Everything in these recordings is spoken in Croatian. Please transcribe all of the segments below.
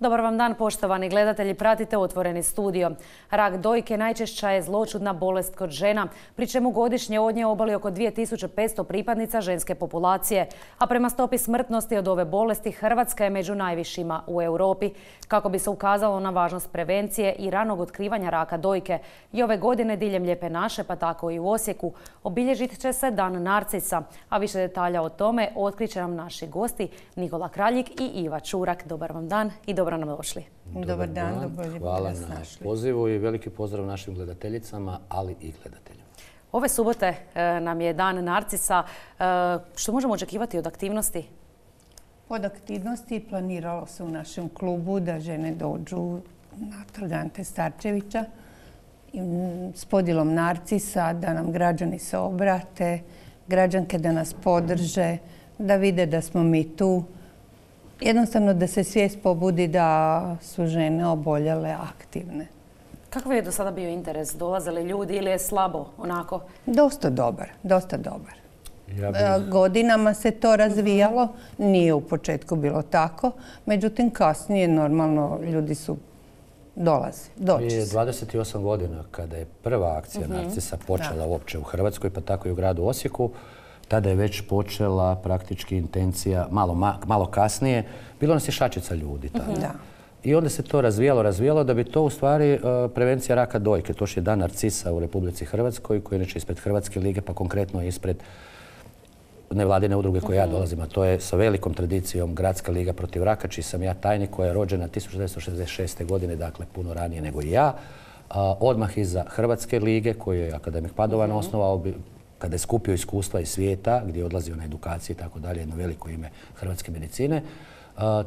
Dobar vam dan, poštovani gledatelji. Pratite Otvoreni studio. Rak dojke najčešća je zloćudna bolest kod žena, pri čemu godišnje od nje oboli oko 2500 pripadnica ženske populacije. A prema stopi smrtnosti od ove bolesti, Hrvatska je među najvišima u Europi. Kako bi se ukazalo na važnost prevencije i ranog otkrivanja raka dojke, i ove godine diljem Lijepe naše, pa tako i u Osijeku, obilježit će se Dan narcisa. A više detalja o tome otkrit će nam naši gosti Nikola Kraljik i Iva Čurak. Dobar vam dan i dobro nam došli. Dobar dan. Hvala na pozivu i veliki pozdrav našim gledateljicama, ali i gledateljima. Ove subote nam je Dan narcisa. Što možemo očekivati od aktivnosti? Od aktivnosti planiralo se u našem klubu da žene dođu na Trg Ante Starčevića s podjelom narcisa, da nam građani se obrate, građanke da nas podrže, da vide da smo mi tu. Jednostavno da se svijest pobudi da su žene oboljele aktivne. Kakav je do sada bio interes? Dolaze li ljudi ili je slabo onako? Dosta dobar. Godinama se to razvijalo, nije u početku bilo tako, međutim kasnije normalno ljudi su dolazi. Prije 28 godina kada je prva akcija narcisa počela uopće u Hrvatskoj, pa tako i u gradu Osijeku, tada je već počela praktički intencija, malo kasnije, bilo nas je šačica ljudi tada. I onda se to razvijalo da bi to u stvari prevencija raka dojke. To je Dan narcisa u Republici Hrvatskoj, koji je inače ispred Hrvatske lige, pa konkretno ispred nevladine udruge koje ja dolazim, a to je sa velikom tradicijom Gradska liga protiv raka, čiji sam ja tajnik, koja je rođena 1966. godine, dakle puno ranije nego i ja. Odmah iza Hrvatske lige, koju je akademik Padovan osnovao, kada je skupio iskustva iz svijeta, gdje je odlazio na edukacije i tako dalje, jedno veliko ime hrvatske medicine,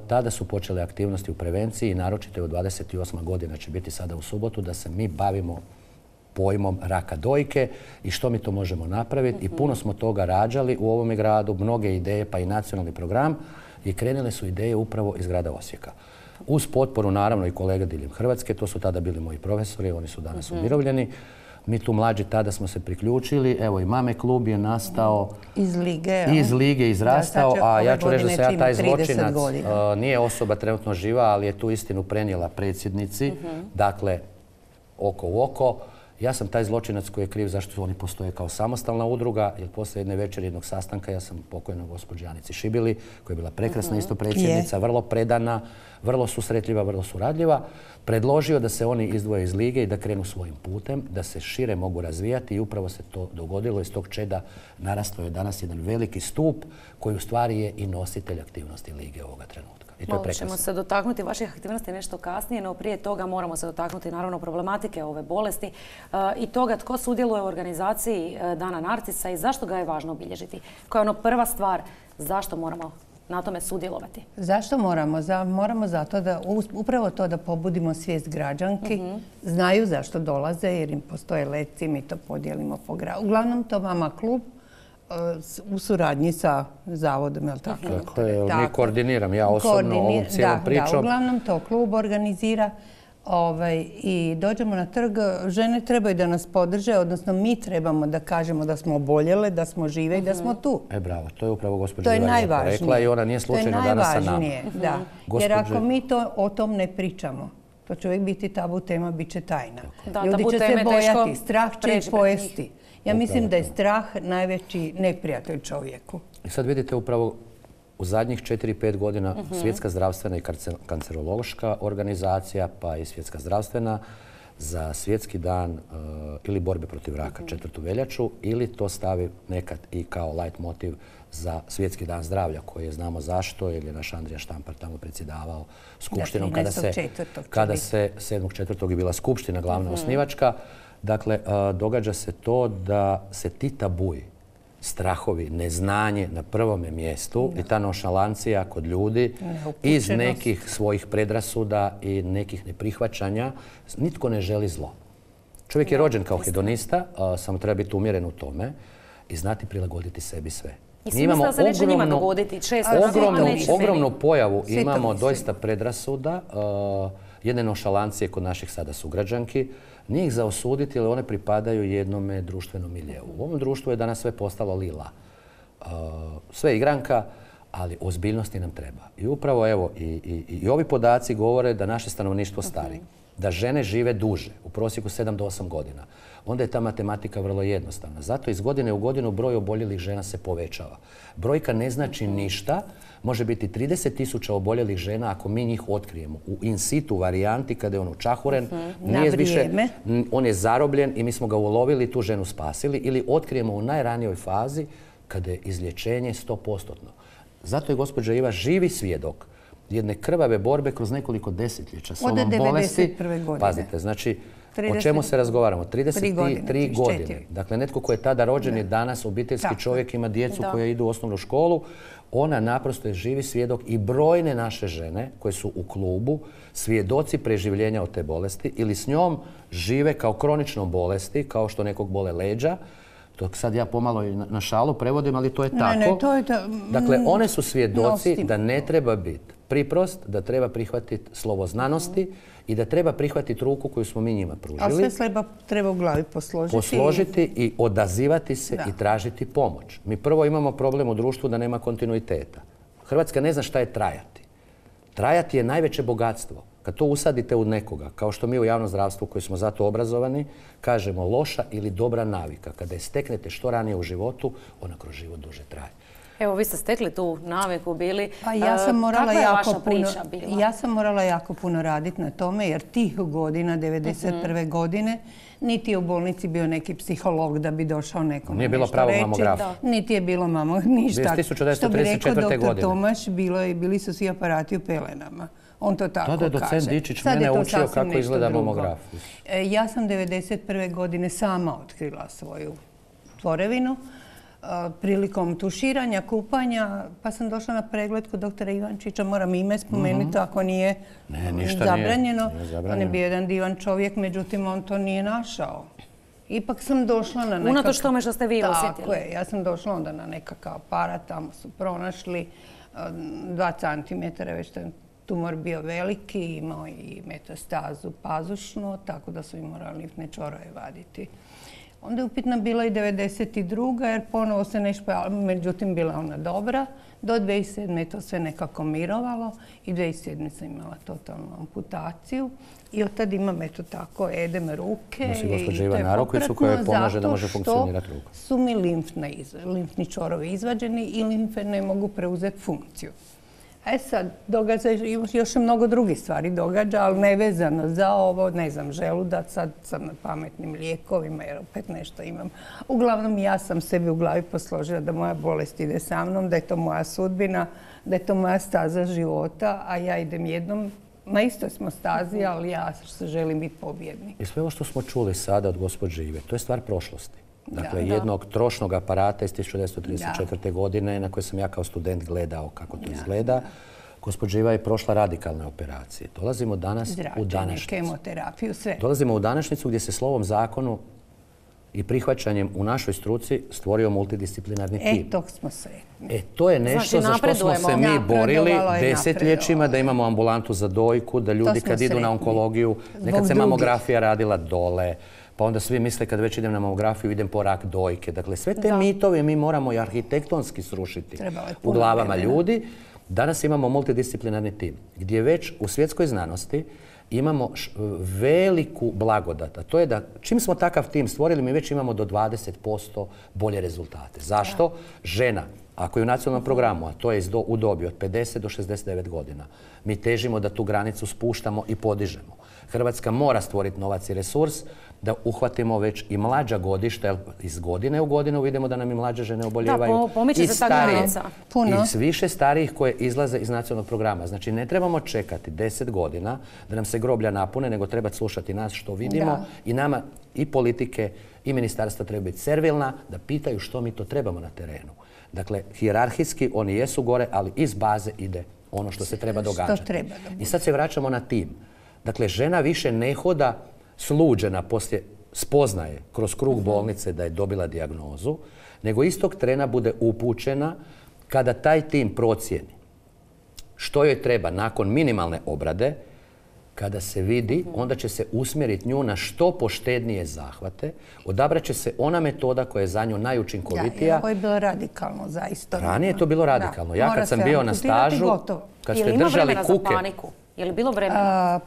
tada su počele aktivnosti u prevenciji i naročito od 28. godina će biti sada u subotu da se mi bavimo pojmom raka dojke i što mi to možemo napraviti. I puno smo toga rađali u ovome gradu, mnoge ideje pa i nacionalni program i krenule su ideje upravo iz grada Osijeka. Uz potporu naravno i kolega diljem Hrvatske, to su tada bili moji profesori, oni su danas umirovljeni. Mi tu mlađi tada smo se priključili. Evo i Mame klub je nastao iz lige izrastao, a ja ću reći da se ja taj zločinac nije osoba trenutno živa, ali je tu istinu prenijela predsjednici. Dakle, oko u oko. Ja sam taj zločinac koji je kriv zašto oni postoje kao samostalna udruga, jer poslije jedne večeri jednog sastanka ja sam pokojnoj gospođi Anici Šibili, koja je bila prekrasna isto predsjednica, vrlo predana, vrlo susretljiva, vrlo suradljiva, predložio da se oni izdvoje iz lige i da krenu svojim putem, da se šire mogu razvijati i upravo se to dogodilo. Iz tog čeda narastao je danas jedan veliki stup koji u stvari je i nositelj aktivnosti lige ovoga trenutka. Malo ćemo se dotaknuti vaših aktivnosti nešto kasnije, no prije toga moramo se dotaknuti naravno problematike ove bolesti i toga tko sudjeluje u organizaciji Dana narcisa i zašto ga je važno obilježiti. Koja je prva stvar zašto moramo na tome sudjelovati? Zašto moramo? Moramo zato da upravo to da pobudimo svijest građanki, znaju zašto dolaze jer im postoje letci, mi to podijelimo po gradu. Uglavnom to Mama klub u suradnji sa zavodom, je li tako? Tako je, mi koordiniram ja osobno ovom cijelom pričom. Da, uglavnom to klub organizira i dođemo na trg. Žene trebaju da nas podrže, odnosno mi trebamo da kažemo da smo oboljele, da smo žive i da smo tu. Bravo, to je upravo gospođa Iva rekla i ona nije slučajno danas sa nama. To je najvažnije, da. Jer ako mi o tom ne pričamo, to će uvijek biti tabu tema, bit će tajna. Ljudi će se bojati, strah će ih pojesti. Ja mislim da je strah najveći neprijatelj čovjeku. I sad vidite upravo u zadnjih 4-5 godina Svjetska zdravstvena i kancerološka organizacija, pa i Svjetska zdravstvena za Svjetski dan ili borbe protiv raka 4. veljaču ili to stavi nekad i kao light motiv za Svjetski dan zdravlja koji je znamo zašto jer je naš Andrija Štampar tamo predsjedavao skupštinom kada se 7.4. je bila skupština glavna osnivačka. Dakle, događa se to da se ti tabuji, strahovi, neznanje na prvome mjestu i ta nonšalancija kod ljudi iz nekih svojih predrasuda i nekih neprihvaćanja, nitko ne želi zlo. Čovjek je rođen kao hedonista, samo treba biti umjeren u tome i znati prilagoditi sebi sve. Mi imamo ogromnu pojavu, imamo doista predrasuda, jedne nonšalancije kod naših sada sugrađanki. Nije ih za osuditi, ali one pripadaju jednome društvenom miljeu. U ovom društvu je danas sve postalo lila. Sve igranka, ali ozbiljnosti nam treba. I upravo evo, i ovi podaci govore da naše stanovništvo stari, da žene žive duže, u prosjeku 7 do 8 godina. Onda je ta matematika vrlo jednostavna. Zato iz godine u godinu broj oboljelih žena se povećava. Brojka ne znači ništa, može biti 30.000 oboljelih žena ako mi njih otkrijemo u in situ varijanti kada je on učahuren, on je zarobljen i mi smo ga ulovili, tu ženu spasili, ili otkrijemo u najranijoj fazi kada je izlječenje 100%. Zato je gospođa Iva živi svjedok jedne krvave borbe kroz nekoliko desetljeća s ovom bolesti. Pazite, znači, o čemu se razgovaramo? 33 godine. Dakle, netko ko je tada rođen je danas obiteljski čovjek, ima djecu koja idu u osnovnu školu. Ona naprosto je živi svjedok i brojne naše žene koje su u klubu svjedoci preživljenja od te bolesti ili s njom žive kao kroničnom bolesti, kao što nekog bole leđa. To sad ja pomalo na šalu prevodim, ali to je tako. Dakle, one su svjedoci da ne treba biti priprost, da treba prihvatiti slovo znanosti i da treba prihvatiti ruku koju smo mi njima pružili. A sve treba u glavi posložiti. Posložiti i odazivati se i tražiti pomoć. Mi prvo imamo problem u društvu da nema kontinuiteta. Hrvatska ne zna šta je trajati. Trajati je najveće bogatstvo. Kad to usadite u nekoga, kao što mi u javnom zdravstvu koji smo zato obrazovani, kažemo loša ili dobra navika. Kada je steknete što ranije u životu, ona kroz život duže traje. Evo, vi ste stekli tu naviku bili. Pa ja sam morala jako puno raditi na tome, jer tih godina, 91. godine, niti je u bolnici bio neki psiholog da bi došao nekome nije bilo pravog mamografa. Niti je bilo ništa. 1934. Što bi rekao doktor Tomaš, bili su svi aparati u pelenama. On to tako kaže. Tada je docent Dičić mene učio kako izgleda mamograf. Ja sam 1991. godine sama otkrila svoju tvorevinu prilikom tuširanja, kupanja, pa sam došla na pregled kod doktora Ivančića, moram ime spomenuti ako nije zabranjeno. On je bio jedan divan čovjek, međutim on to nije našao. Ipak sam došla na nekakav... Unatoč tome što ste vi osjetili. Tako je, ja sam došla onda na nekakav aparat, tamo su pronašli 2 cm, već ten tumor bio veliki, imao i metastazu pazušnu, tako da su im morali limfne čvorove vaditi. Onda je upitna bila i 1992. jer ponovo se nešto, međutim bila ona dobra. Do 2007. je to sve nekako mirovalo i 2007. sam imala totalnu amputaciju. I od tad imam eto tako edem ruke. Nosi gospođa Ivana Rokvicu koja joj pomaže da može funkcionirati ruka. Su mi limfni čvorovi izvađeni i limfe ne mogu preuzeti funkciju. Sad, događa još mnogo drugih stvari događa, ali nevezano za ovo, ne znam, želudac, sad sam na pametnim lijekovima jer opet nešto imam. Uglavnom, ja sam sebi u glavi posložila da moja bolest ide sa mnom, da je to moja sudbina, da je to moja staza života, a ja idem jednom. Na istoj smo stazi, ali ja želim biti pobjednik. I sve ovo što smo čuli sada od gospođe Ive, to je stvar prošlosti. Dakle, jednog trošnog aparata iz 1934. godine na koje sam ja kao student gledao kako to izgleda. Gospođa Iva je prošla radikalne operacije. Dolazimo danas u današnjicu. Kemoterapiju, sve. Dolazimo u današnjicu gdje se slovom zakonu i prihvaćanjem u našoj struci stvorio multidisciplinarni tim. Tog smo sretni. To je nešto za što smo se mi borili desetljećima, da imamo ambulantu za dojku, da ljudi kad idu na onkologiju, nekad se mamografija radila dole, pa onda svi misle kad već idem na mamografiju idem po rak dojke. Dakle, sve te mitove mi moramo i arhitektonski srušiti u glavama ljudi. Danas imamo multidisciplinarni tim gdje već u svjetskoj znanosti imamo veliku blagodat. A to je da čim smo takav tim stvorili mi već imamo do 20% bolje rezultate. Zašto? Žena, ako je u nacionalnom programu, a to je u dobi od 50 do 69 godina, mi težimo da tu granicu spuštamo i podižemo. Hrvatska mora stvoriti novac i resurs da uhvatimo već i mlađa godišta, jer iz godine u godinu vidimo da nam i mlađe žene oboljevaju. Da, pomiče se ta granica. I više starijih koje izlaze iz nacionalnog programa. Znači, ne trebamo čekati 10 godina da nam se groblja napune, nego treba slušati nas što vidimo i nama i politike i ministarstva treba biti servilna da pitaju što mi to trebamo na terenu. Dakle, hijerarhijski oni jesu gore, ali iz baze ide ono što se treba događati. I sad se vraćamo na tim. Dakle, žena više ne hoda sluđena poslije spoznaje kroz krug bolnice da je dobila dijagnozu, nego istog trena bude upućena kada taj tim procijeni što joj treba nakon minimalne obrade kada se vidi, onda će se usmjeriti nju na što poštednije zahvate, odabrat će se ona metoda koja je za nju najučinkovitija. Ovo je bilo radikalno, zaista. Ranije je to bilo radikalno. Ja kad sam bio na stažu, kad ste držali kuke... Je li bilo vremena?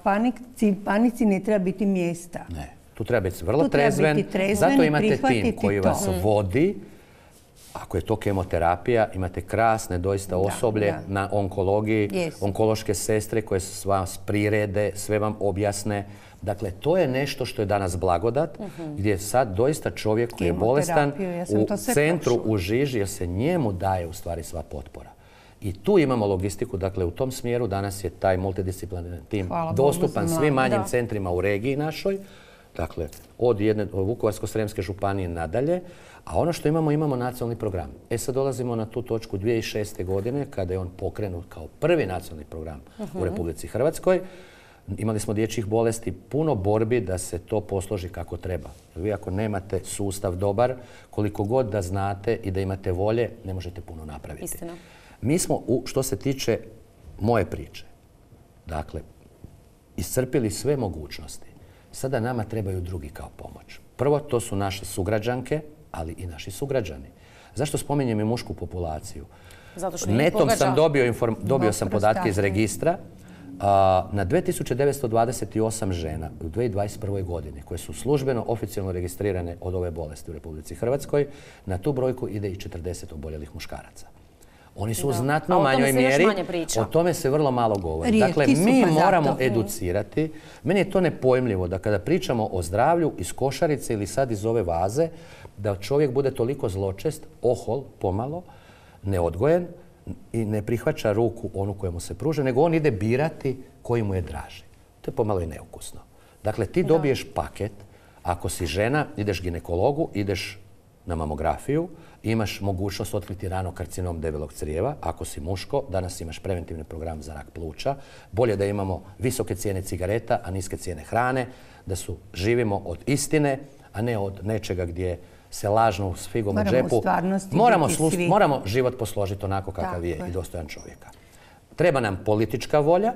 Panici ne treba biti mjesta. Ne, tu treba biti vrlo trezven. Zato imate tim koji vas vodi. Ako je to kemoterapija, imate krasne doista osoblje na onkologiji, onkološke sestre koje vas prirede, sve vam objasne. Dakle, to je nešto što je danas blagodat, gdje sad doista čovjek koji je bolestan u centru, u žiži, jer se njemu daje u stvari sva potpora. I tu imamo logistiku, dakle u tom smjeru danas je taj multidisciplinarni tim dostupan svim manjim centrima u regiji našoj, dakle od Vukovarsko-srijemske županije nadalje, a ono što imamo nacionalni program. Sad dolazimo na tu točku 2006. godine kada je on pokrenut kao prvi nacionalni program u Republici Hrvatskoj. Imali smo dječjih bolesti, puno borbi da se to posloži kako treba. Vi ako nemate sustav dobar, koliko god da znate i da imate volje, ne možete puno napraviti. Istina. Mi smo, što se tiče moje priče, dakle, iscrpili sve mogućnosti. Sada nama trebaju drugi kao pomoć. Prvo, to su naše sugrađanke, ali i naši sugrađani. Zašto spominjem i mušku populaciju? Zato što netom sam dobio sam podatke iz registra. Na 2928 žena u 2021. godini koje su službeno, oficijalno registrirane od ove bolesti u Republici Hrvatskoj, na tu brojku ide i 40 oboljelih muškaraca. Oni su u znatno manjoj mjeri, o tome se vrlo malo govori. Dakle, mi moramo educirati. Meni je to nepojmljivo da kada pričamo o zdravlju iz košarice ili sad iz ove vaze, da čovjek bude toliko zločest, ohol, pomalo, neodgojen i ne prihvaća ruku onu koja mu se pruža, nego on ide birati koji mu je draži. To je pomalo i neukusno. Dakle, ti dobiješ paket, ako si žena, ideš ginekologu, ideš na mamografiju, imaš mogućnost otkriti rano karcinom debelog crijeva. Ako si muško, danas imaš preventivni program za rak pluća. Bolje da imamo visoke cijene cigareta, a niske cijene hrane, da živimo od istine, a ne od nečega gdje se lažno s figom u džepu. Moramo život posložiti onako kakav je i dostojan čovjeka. Treba nam politička volja.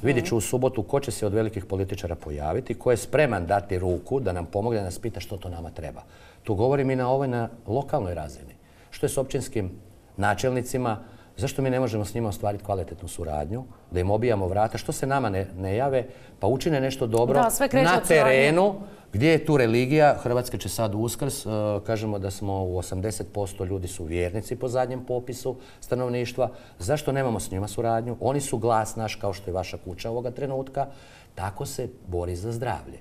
Vidjet ću u subotu ko će se od velikih političara pojaviti, ko je spreman dati ruku da nam pomogne, da nas pita što to nama treba. Tu govorim i na lokalnoj razini. Što je s općinskim načelnicima? Zašto mi ne možemo s njima ostvariti kvalitetnu suradnju? Da im obijamo vrata? Što se nama ne jave? Pa učine nešto dobro na terenu. Gdje je tu religija? Hrvatska će sad Uskrs. Kažemo da smo u 80% ljudi su vjernici po zadnjem popisu stanovništva. Zašto nemamo s njima suradnju? Oni su glas naš kao što je vaša kuća ovoga trenutka. Tako se bori za zdravlje.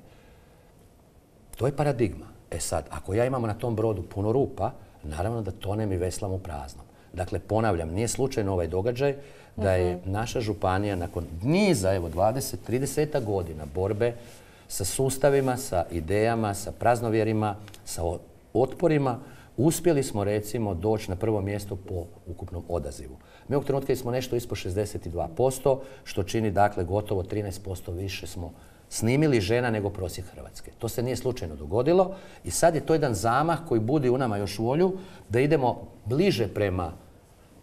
To je paradigma. Sad, ako ja imam na tom brodu puno rupa, naravno da tonem i veslam u praznom. Dakle, ponavljam, nije slučajno ovaj događaj da je naša županija nakon niza, 20-30 godina borbe sa sustavima, sa idejama, sa praznovjerima, sa otporima, uspjeli smo recimo doći na prvo mjesto po ukupnom odazivu. Mi ovog trenutka smo nešto ispod 62%, što čini dakle gotovo 13% više smo snimili žena nego prosjek Hrvatske. To se nije slučajno dogodilo i sad je to jedan zamah koji budi u nama još volju da idemo bliže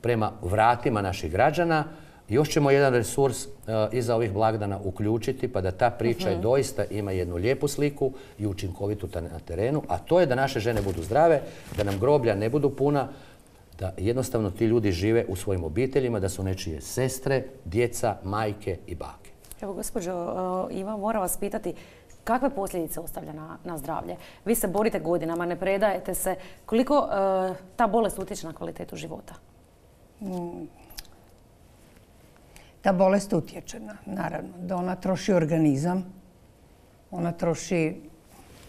prema vratima naših građana. Još ćemo jedan resurs iza ovih blagdana uključiti pa da ta priča doista ima jednu lijepu sliku i učinkovitu na terenu, a to je da naše žene budu zdrave, da nam groblja ne budu puna, da jednostavno ti ljudi žive u svojim obiteljima, da su nečije sestre, djeca, majke i bake. Evo, gospođo Iva, moram vas pitati kakve posljedice ostavlja na zdravlje? Vi se borite godinama, ne predajete se. Koliko ta bolest utječe na kvalitetu života? Ta bolest utječe, naravno, da ona troši organizam, ona troši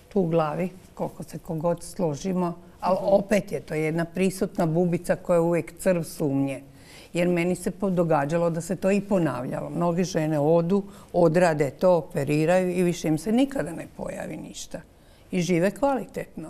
tu u glavi, koliko se kogod složimo, ali opet je to jedna prisutna bubica koja je uvijek crv sumnje. Jer meni se događalo da se to i ponavljalo. Mnoge žene odu, odrade to, operiraju i više im se nikada ne pojavi ništa. I žive kvalitetno.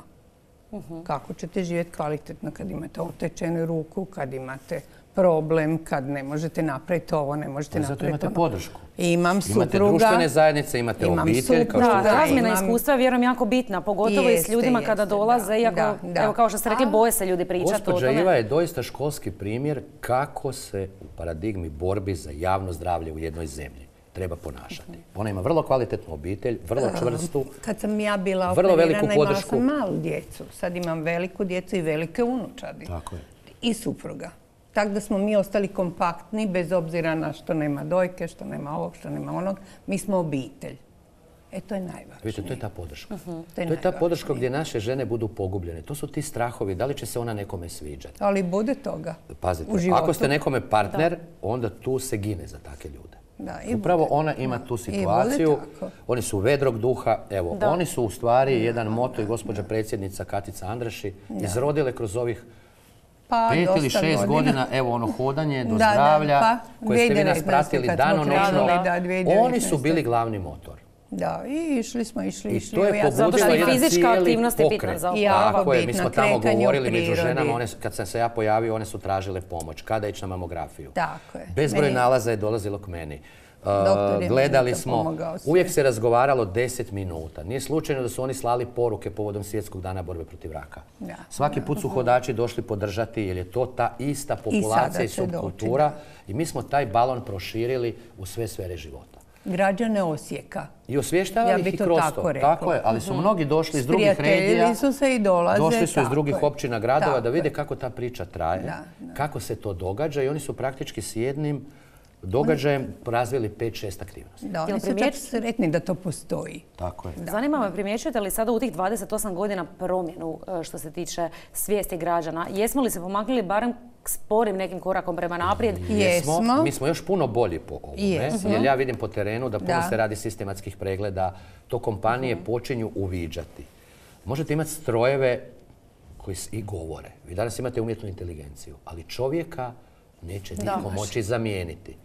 Kako ćete živjeti kvalitetno kad imate otečenu ruku, kad imate problem, kad ne možete napraviti ovo, ne možete napraviti ono. Zato imate podršku. Imam supruga. Imate društvene zajednice, imate obitelj. Razmjena iskustva je vjerujem jako bitna, pogotovo i s ljudima kada dolaze, iako, evo kao što ste rekli, boje se ljudi pričati o tome. Gospođa Iva je doista školski primjer kako se u paradigmi borbi za javno zdravlje u jednoj zemlji treba ponašati. Ona ima vrlo kvalitetnu obitelj, vrlo čvrstu, Kad sam ja bila vrlo veliku operirana, imala podršku. sam malu djecu. Sad imam veliku djecu i velike unučadi. Tako je. I supruga. Tako da smo mi ostali kompaktni, bez obzira na što nema dojke, što nema ovog, što nema onog. Mi smo obitelj. To je najvažnije. Vidite, to je ta podrška. To je To je ta podrška najvažnije. gdje naše žene budu pogubljene. To su ti strahovi, da li će se ona nekome sviđati. Ali bude toga Pazite, u životu. ako ste nekome partner, onda tu se gine za takve ljude. Da, i Upravo bude. ona ima tu bude situaciju. tako. Oni su vedrog duha. Evo, oni su u stvari jedan moto i gospođa predsjednica Katica Andraši izrodile kroz ovih Pa, 5 ili dosta 6 godina, evo ono hodanje do Da, zdravlja, pa, koje ste vi nas 2019. pratili kad smo danonoćno. krenuli, da, 2019. Oni su bili glavni motor. Da, i išli smo. I to Evo, je ja sam Zato što pobudilo i jedan fizička cijeli aktivnost je bitna pokret. za jako Tako je, mi bitna, smo tamo kretanje u govorili među prirodi. ženama, kad sam se ja pojavio, one su tražile pomoć. Kada ići na mamografiju? Tako je. Bezbroj Meni- nalaza je dolazilo k meni. Doktor je Gledali meni to smo, pomogao sve. uvijek se razgovaralo 10 minuta. Nije slučajno da su oni slali poruke povodom Svjetskog dana borbe protiv raka. Da. Svaki put su hodači došli podržati jer je to ta ista populacija sada i će doći, subkultura. I mi smo taj balon proširili u sve sfere života. Građane Osijeka. I osvještavali Ja ih bi i to kroz tako to. rekla. Tako je, ali su mnogi došli iz drugih Sprijateljili regija. su se i dolaze. Došli su iz tako drugih je. općina, gradova Tako da vide je. kako ta priča traje, Da. kako se to događa i oni su praktički s jednim događajem razvili 5-6 aktivnosti. Da, oni Jel su čak primijeti- sretni da to postoji. Tako je. Zanima me, primjećujete li sada u tih 28 godina promjenu što se tiče svijesti građana? Jesmo li se pomaknuli barem sporim nekim korakom prema naprijed? Jesmo. Mi smo još puno bolji po ovome, Jesmo. jer ja vidim po terenu da puno Da. se radi sistematskih pregleda, to kompanije počinju uviđati. Možete imati strojeve koji i govore. Vi danas imate umjetnu inteligenciju, ali čovjeka neće niko moći zamijeniti.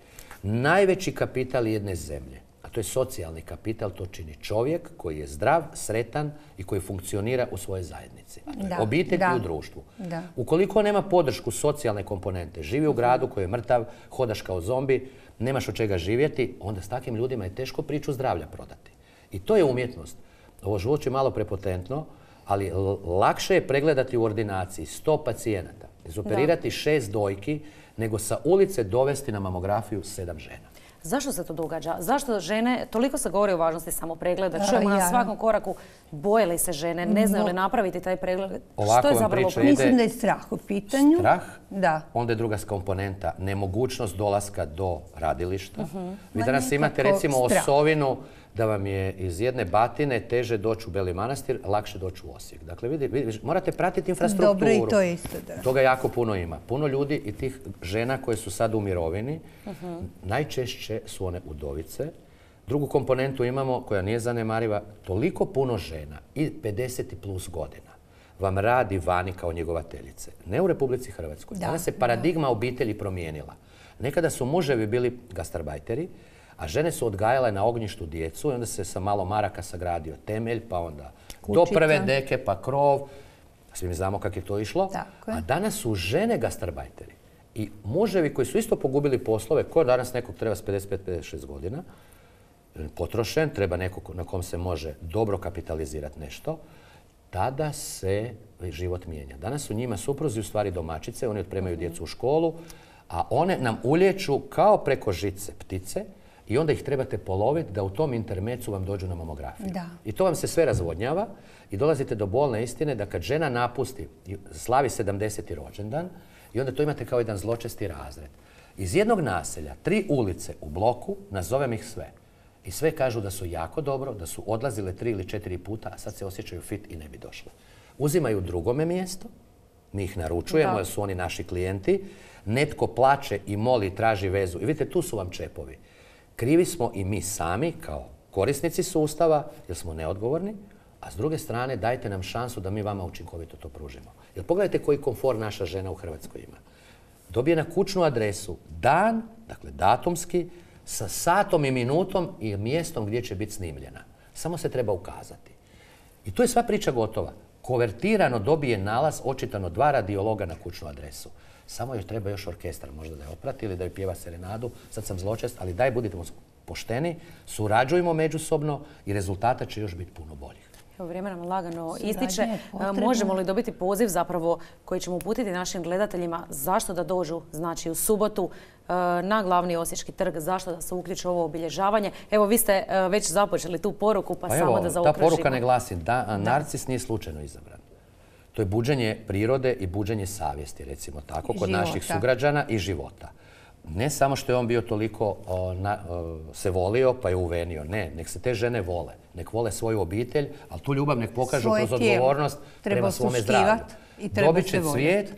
Najveći kapital jedne zemlje, a to je socijalni kapital, to čini čovjek koji je zdrav, sretan i koji funkcionira u svojoj zajednici. A to je Da, obitelj da, i u društvu. da. Ukoliko nema podršku socijalne komponente, živi u gradu koji je mrtav, hodaš kao zombi, nemaš od čega živjeti, onda s takvim ljudima je teško priču zdravlja prodati. I to je umjetnost. Ovo zvuči malo prepotentno, ali lakše je pregledati u ordinaciji 100 pacijenata, izoperirati 6 dojki, nego sa ulice dovesti na mamografiju 7 žena. Zašto se to događa? Zašto žene, toliko se govori o važnosti samopregleda, čujemo na ja. svakom koraku, boje li se žene, ne znaju li napraviti taj pregled? Ovako Što je vam zapravo priča problem? ide. Mislim da je strah u pitanju. Strah, Da. onda je druga komponenta, nemogućnost dolaska do radilišta. Vi Ma danas imate nekako recimo strah. osovinu da vam je iz jedne Batine teže doći u Beli Manastir, lakše doći u Osijek. Dakle, morate pratiti infrastrukturu. Dobro, i to isto, da. Toga jako puno ima. Puno ljudi i tih žena koje su sad u mirovini, najčešće su one udovice. Drugu komponentu imamo, koja nije zanemariva, toliko puno žena i 50 plus godina vam radi vani kao njegovateljice. Ne u Republici Hrvatskoj. Da, Danas se paradigma obitelji promijenila. Nekada su muževi bili gastarbajteri, a žene su odgajale na ognjištu djecu i onda se sa malo maraka sagradio temelj, pa onda do Kućica. prve deke, pa krov. Svi mi znamo kako je to išlo. Tako je. A danas su žene gastarbajteri. I muževi koji su isto pogubili poslove, ko danas nekog treba s 55-56 godina, potrošen, treba nekog na kom se može dobro kapitalizirati nešto, tada se život mijenja. Danas su njima supruzi u stvari domaćice, oni otpremaju djecu u školu, a one nam ulječu kao preko žice ptice i onda ih trebate poloviti da u tom intermecu vam dođu na mamografiju. Da. I to vam se sve razvodnjava i dolazite do bolne istine da kad žena napusti, slavi 70. rođendan i onda to imate kao jedan zločesti razred. Iz jednog naselja, 3 ulice u bloku, nazovem ih sve. I sve kažu da su jako dobro, da su odlazile 3 ili 4 puta, a sad se osjećaju fit i ne bi došle. Uzimaju drugome mjesto, mi ih naručujemo jer su oni naši klijenti, netko plače i moli i traži vezu. I vidite, tu su vam čepovi. Krivi smo i mi sami kao korisnici sustava jer smo neodgovorni, a s druge strane dajte nam šansu da mi vama učinkovito to pružimo. Jer pogledajte koji komfor naša žena u Hrvatskoj ima. Dobije na kućnu adresu dan, dakle datumski, sa satom i minutom i mjestom gdje će biti snimljena. Samo se treba ukazati. I tu je sva priča gotova. Konvertirano dobije nalaz, očitano 2 radiologa na kućnu adresu. Samo još treba još orkestar, možda da je oprati ili da je pjeva serenadu. Sad sam zločest, ali daj budite pošteni, surađujmo međusobno i rezultata će još biti puno boljih. Evo, vrijeme nam lagano Suradnja ističe. je potrebna. Možemo li dobiti poziv zapravo koji ćemo uputiti našim gledateljima zašto da dođu, znači u subotu na glavni Osječki trg, zašto da se uključe u ovo obilježavanje? Evo, vi ste već započeli tu poruku, pa samo da Ta zaokružimo. poruka ne glasi da narcis nije slučajno izabran. To je buđenje prirode i buđenje savjesti, recimo tako, kod naših sugrađana i života. Ne samo što je on bio toliko se volio pa je uvenio. Ne, nek se te žene vole. Nek vole svoju obitelj, ali tu ljubav nek pokažu kroz odgovornost prema svome zdravlju. Dobit će cvijet,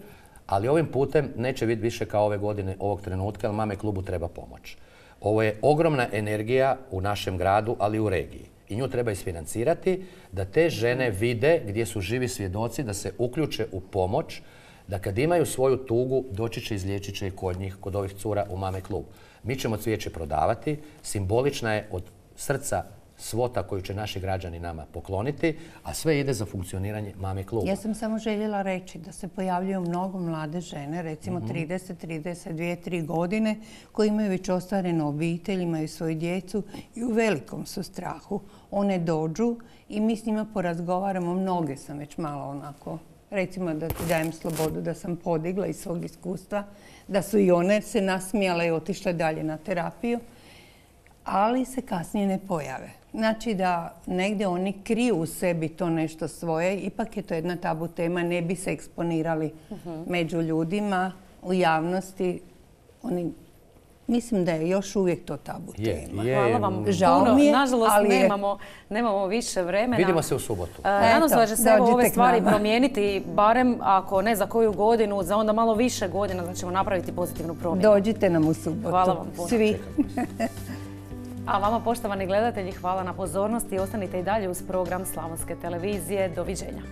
ali ovim putem neće biti više kao ove godine, ovog trenutka, jer Mame klubu treba pomoć. Ovo je ogromna energija u našem gradu, ali i u regiji. I nju treba isfinancirati da te žene vide gdje su živi svjedoci, da se uključe u pomoć, da kad imaju svoju tugu, doći će, izliječit će i kod njih, kod ovih cura u Mame klub. Mi ćemo cvijeće prodavati, simbolična je od srca svota koju će naši građani nama pokloniti, a sve ide za funkcioniranje Mame kluba. Ja sam samo željela reći da se pojavljuju mnogo mlade žene, recimo 30, 32, 3 godine, koji imaju već ostvarenu obitelj, imaju svoju djecu i u velikom su strahu. One dođu i mi s njima porazgovaramo, mnoge sam već malo onako, recimo da ti dajem slobodu da sam podigla iz svog iskustva, da su i one se nasmijale i otišle dalje na terapiju, ali se kasnije ne pojave. Znači da negdje oni kriju u sebi to nešto svoje, ipak je to jedna tabu tema, ne bi se eksponirali među ljudima, u javnosti. Mislim da je još uvijek to tabu tema. Hvala vam Žao puno. mi je, Nažalost, ali nemamo više vremena. Vidimo se u subotu. Nadam se da će se ove dođite k stvari nama. promijeniti, barem ako ne za koju godinu, za onda malo više godina da ćemo napraviti pozitivnu promjenu. Dođite nam u subotu. Hvala vam puno. Svi. A vama, poštovani gledatelji, hvala na pozornosti i ostanite i dalje uz program Slavonske televizije. Doviđenja.